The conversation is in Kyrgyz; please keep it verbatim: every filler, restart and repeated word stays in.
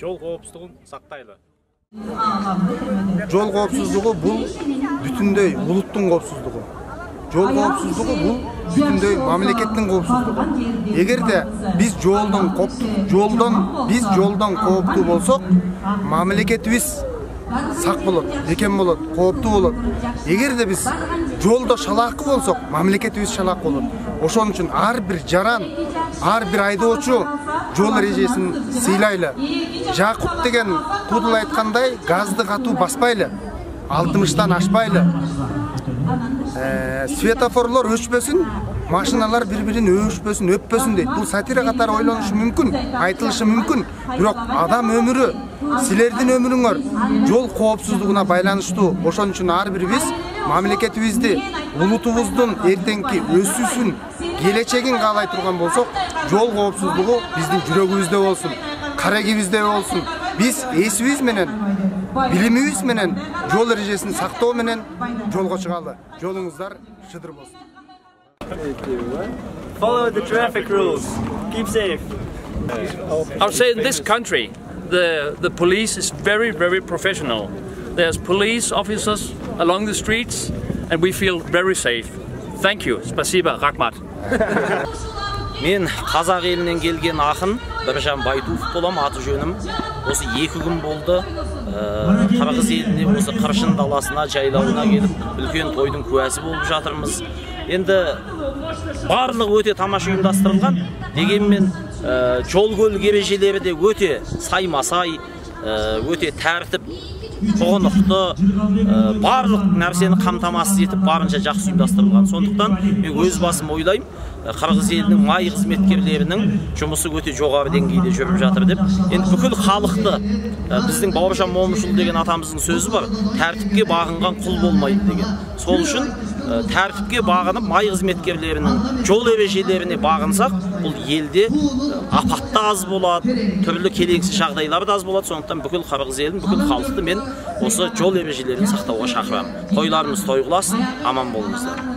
жол коопсуздугун сактайлы. Жол коопсуздугу бул бүтүндөй улуттун коопсуздугу. Жол коопсуздугу бул бүтүндөй мамлекеттин коопсуздугу. Эгерде биз жолдон коптук, жолдон биз жолдон кооптуу болсок, мамлекетибиз сак болот, бекем болот, кооптуу болот. Эгерде биз жолдо шалаакы болсок, мамлекетибиз шалаак болот. Ошон үчүн ар бир жаран, ар бир айдоочу жол эрежесин сыйлайлы. Жакут деген Кудул айткандай, газды катуу баспайлы, алтымыштан ашпайлы. Светофорлор өчпөсүн, машиналар бири-бирин өчпөсүн, өппөсүн дейт. Бул сатира катары ойлонушу мүмкүн, айтылышы мүмкүн. Бирок адам өмүрү, силердин өмүрүңөр жол коопсуздугуна байланыштуу. Ошон үчүн ар бирибиз мамлекетибизди, улутубуздун эртеңки өсүүсүн, келечегин каалай турган болсок, жол коопсуздугу биздин жүрөгүбүздө болсун, карегибизде болсун. Биз эсибиз менен, билимибиз менен, жол эрежесин сактоо менен жолго чыгалы. Жолуңуздар шыдыр болсун. Follow the traffic rules. Keep safe. I would say in this country, the the police is very, very professional. There's police officers along the streets, and we feel very safe. Thank you. Спасибо, Рахмат. Мен Казак элинен келген акын Биржан Байтуов болом, аты жөнүм. Осы эки күн болду. Кыргыз элине осы Кыршын даласына, жайлауына келип, үлкен тойдун куәсі болуп жатырмыз. Енді барлығы өте тамаша ұйымдастырылған, дегенмен жол көлік ережелері де өте сайма-сай, өте тәртіп, жоғынықты, барлық нәрсені қамтамасыз етіп, барынша жақсы ұйымдастырылған. Сондықтан мен өз басым ойлаймын, Кыргыз элинин май кызметкерлеринин жұмысы өте жоғары деңгейде жүрүп жатыр деп. Енді бүкіл халықты, біздің Бауыржан Момышұлы деген атамыздың сөзі бар, тәртіпке бағынған құл болмайды деген. Сол үшін тәртіпке бағынып, май қызметкерлерінің жол ережелеріне бағынсақ, бұл елде апатты аз болады, түрлі келеңсіз жағдайлар да аз болады. Сондықтан бүкіл Кыргыз елін, бүкіл халықты мен осы жол ережелерін сақтауға шақырамын. Тойларымыз той қыласын, аман болыңыздар.